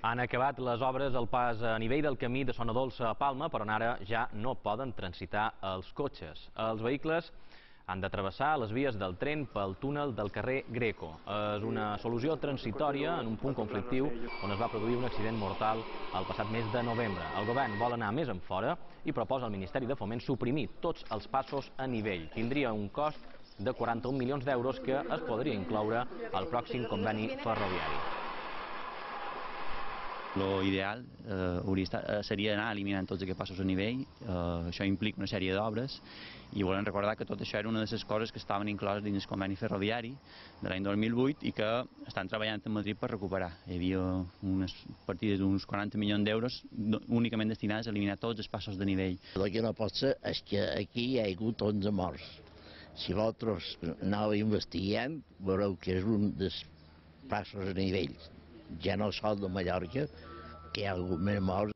Han acabat les obres al pas a nivell del camí de Sonadolça a Palma, però ara ja no poden transitar els cotxes. Els vehicles han de travessar les vies del tren pel túnel del carrer Greco. És una solució transitòria en un punt conflictiu on es va produir un accident mortal el passat mes de novembre. El govern vol anar més enfora i proposa al Ministeri de Foment suprimir tots els passos a nivell. Tindria un cost de 41 milions d'euros que es podria incloure al pròxim conveni ferroviari. L'ideal seria anar eliminant tots aquests passos a nivell. Això implica una sèrie d'obres i volem recordar que tot això era una de les coses que estaven incloses dins el conveni ferroviari de l'any 2008 i que estan treballant a Madrid per recuperar. Hi havia unes partides d'uns 40 milions d'euros únicament destinades a eliminar tots els passos de nivell. El que no pot ser és que aquí hi ha hagut 11 morts. Si vosaltres aneu investigant, veureu que és un dels passos a nivell. Ja no sol de Mallorca, que hi ha hagut més morts.